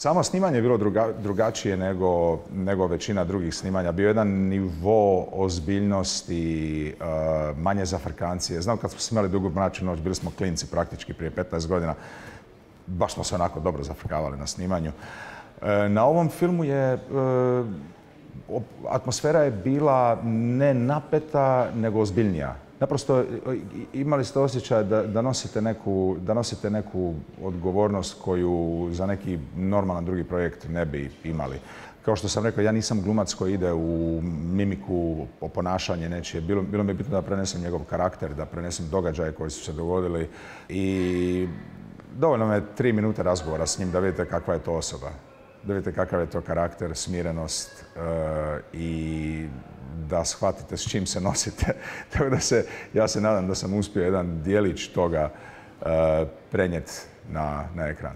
Samo snimanje je bilo drugačije nego većina drugih snimanja. Bio je jedan nivo ozbiljnosti, manje zafrkancije. Znam kad smo snimali Dugu mračnu noć, bili smo klinci praktički prije 15 godina. Baš smo se onako dobro zafrkavali na snimanju. Na ovom filmu je atmosfera je bila ne napeta, nego ozbiljnija. Naprosto imali ste osjećaj da nosite neku odgovornost koju za neki normalan drugi projekt ne bi imali. Kao što sam rekao, ja nisam glumac koji ide u mimiku, ponašanje nečije. Bilo mi je bitno da prenesem njegov karakter, da prenesem događaje koji su se dogodili i dovoljno me 3 minute razgovora s njim da vidite kakva je to osoba. Da vidite kakav je to karakter, smirenost i da shvatite s čim se nosite. Tako da ja se nadam da sam uspio jedan dijelić toga prenijeti na ekran.